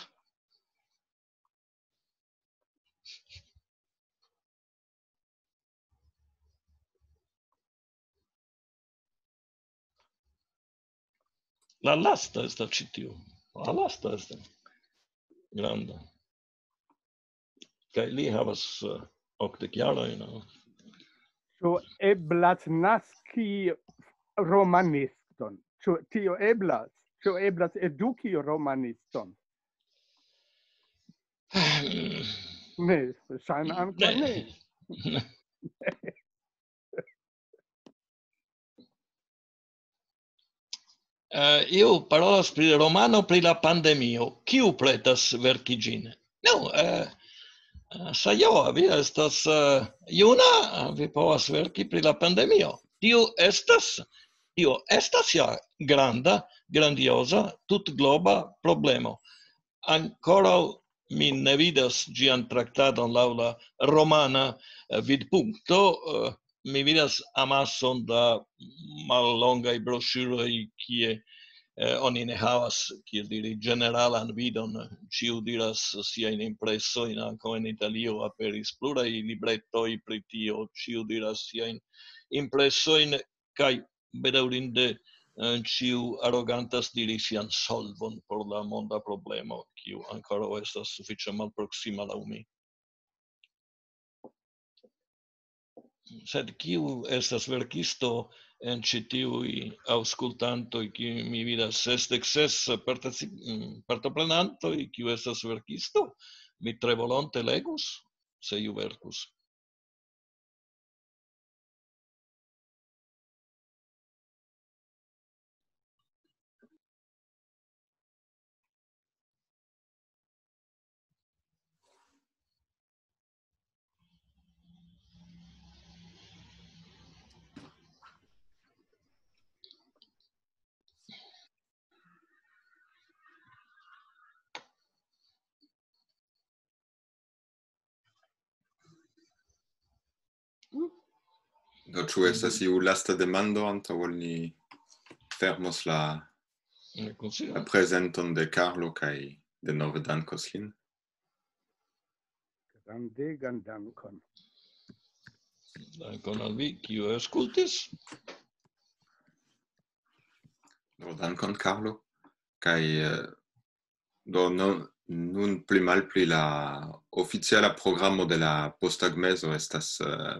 La lasta estas ĉi tiu. La lasta estas granda. Kaj li havas, eh, okdek jarojn, no? Ĉu eblas naski romaniston? Ĉu tio eblas? Ĉu eblas eduki romaniston? Ne, ŝajne ankaŭ ne. Eh, io parolas pri romano pri la pandemio. Kiu pretas verki ĝin? No, eh, Sajoa, vi estas eh, juna, vi povas verki pri la pandemio. Tio estas, tio estas ja granda, grandioza, tutgloba problemo. Ankoraŭ mi ne vidas ĝian traktadon laŭ la romana eh, vidpunkto. Eh, Mi vidas amason da mallongaj broŝuroj, kie eh, oni ne havas, kiel diri, ĝeneralan vidon. Ĉiu diras siajn impresojn, ankaŭ en Italio aperis pluraj libretoj pri tio, ĉiu diras siajn impresojn, kaj bedaŭrinde eh, ĉiu arogantas diri sian solvon por la monda problemo, kiu ankoraŭ estas sufiĉe malproksima laŭ mi. Sed kiu estas verkisto en ĉi tiuj aŭskultantoj, kiuj mi vidas sesdek ses particip-, mm, partoprenantoj, kiu estas verkisto? Mi tre volonte legus, se iu verkus. Do, ĉu estas iu lasta demando antaŭ ol ni fermos la, la prezenton de Carlo kaj denove dankos lin? Grandegan dankon. Dankon al vi, kiu aŭskultis. Do, dankon, Carlo. Kaj eh, do, no, nun pli malpli la oficiala programo de la postagmezo estas, eh,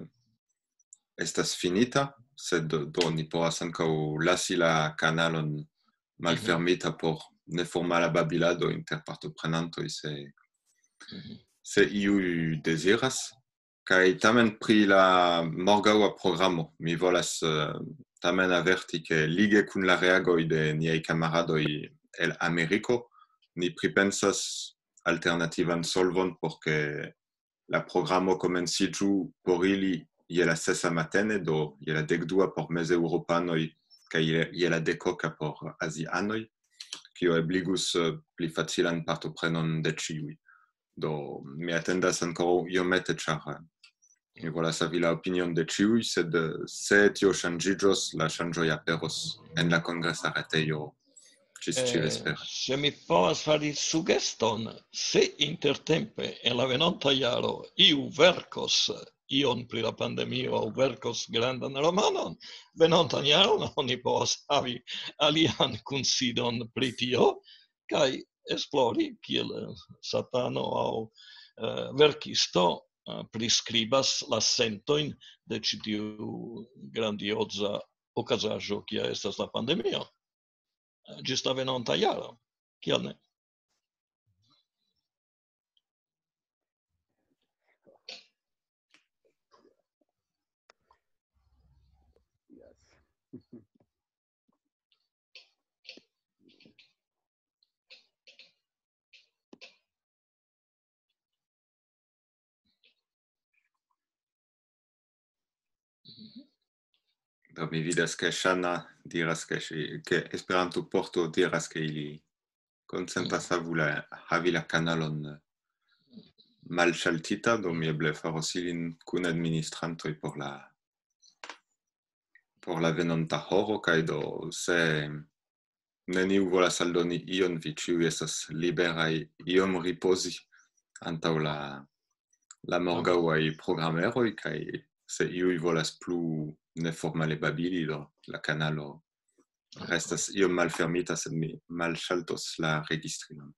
estas finita, sed do, do ni povas ankaŭ lasi la kanalon malfermita por neformala babilado inter partoprenantoj, se, se iuj deziras. Kaj tamen pri la morgaŭa programo, mi volas eh, tamen averti, ke lige kun la reagoj de niaj kamaradoj el Ameriko, ni pripensas alternativan solvon por ke la programo komenciĝu por ili je la sesa matene, do je la dekdua por mezeŭropanoj kaj je, je la dekoka por azianoj, kio ebligus eh, pli facilan partoprenon de ĉiuj. Do, mi atendas ankoraŭ iomete, ĉar eh, mi volas havi la opinion de ĉiuj, sed eh, se tio ŝanĝiĝos, la ŝanĝoj aperos en la kongresa retejo ĝis ĉi vespere. Se mi povas fari sugeston, se intertempe en la venonta jaro iu verkos ion pri la pandemio aŭ verkos grandan romanon, venontan jaron oni povas havi alian kunsidon pri tio, kaj esplori, kiel eh, satano aŭ eh, verkisto eh, priskribas la sentojn de ĉi tiu grandioza okazaĵo, kia estas la pandemio. Eh, Ĝis la venonta jaro, kial ne? Yes. Do, mi vidas, ke Ŝana diras, ke, ŝi, ke Esperanto-porto diras, ke ili konsentas havu la, havi la kanalon malŝaltita, do mi eble faros ilin kun administrantoj por la, por la venonta horo, kaj do, se neniu volas aldoni ion, vi ĉiuj estas liberaj iom ripozi antaŭ la, la morgaŭaj programeroj, kaj se iuj volas plu neformale babili, do la kanalo restas iom malfermita, sed mi malŝaltos la registrinon.